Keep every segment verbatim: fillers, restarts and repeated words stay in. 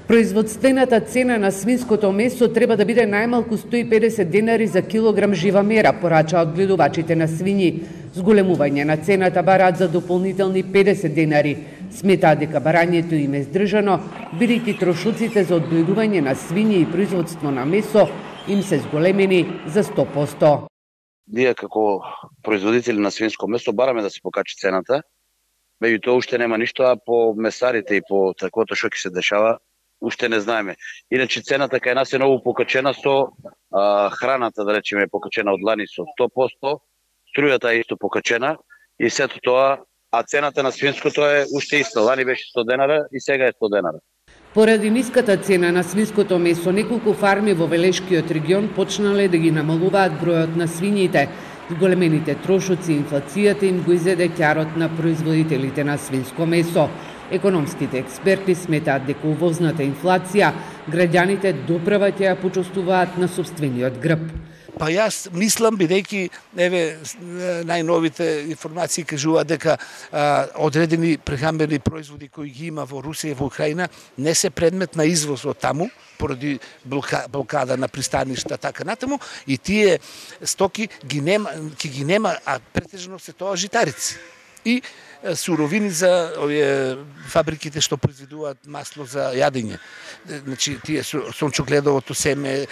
Производствената цена на свинското месо треба да биде најмалку сто и педесет денари за килограм жива мера, порачаат гледувачите на свињи. Зголемување на цената бараат за дополнителни педесет денари. Сметаат дека барањето им е здржано, бидејќи трошоците за одгледување на свињи и производство на месо им се зголемени за сто проценти. Ние како производители на свинско месо бараме да се покачи цената, меѓутоа уште нема ништо, а по месарите и по таквото што ќе се дешава, уште не знаеме. Иначе цената кај нас е многу покачена со а, храната, да речеме, е покачена од лани со сто проценти, струјата е исто покачена и сето тоа, а цената на свинското е уште иста. Лани беше сто денара и сега е сто денара. Поради ниската цена на свинското месо, неколку фарми во Велешкиот регион почнале да ги намалуваат бројот на свињите. Големените трошоци и инфлацијата им го изеде ќарот на производителите на свинско месо. Економските експерти сметаат дека увозната инфлација граѓаните доправа ќе ја почувствуваат на сопствениот грб. Па јас мислам, бидејќи еве најновите информации кажуваат дека а, одредени прехранбени производи кои ги има во Русија и во Украина не се предмет на извоз од таму поради блокада на пристаништа така натаму и тие стоки ги нема, ќе ги нема, а претежно се тоа житарици и суровини за овие фабриките што произведуваат масло за јадење. Значи тие сончогледовото семе,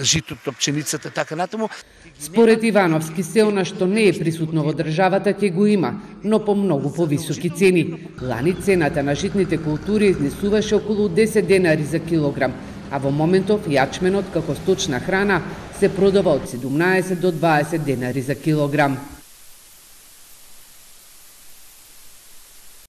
житото, пченицата така натаму. Според Ивановски се она што не е присутно во државата ќе го има, но по многу повисоки цени. Лани цената на житните култури изнесуваше околу десет денари за килограм, а во моментов јачменот како сточна храна се продава од седумнаесет до дваесет денари за килограм.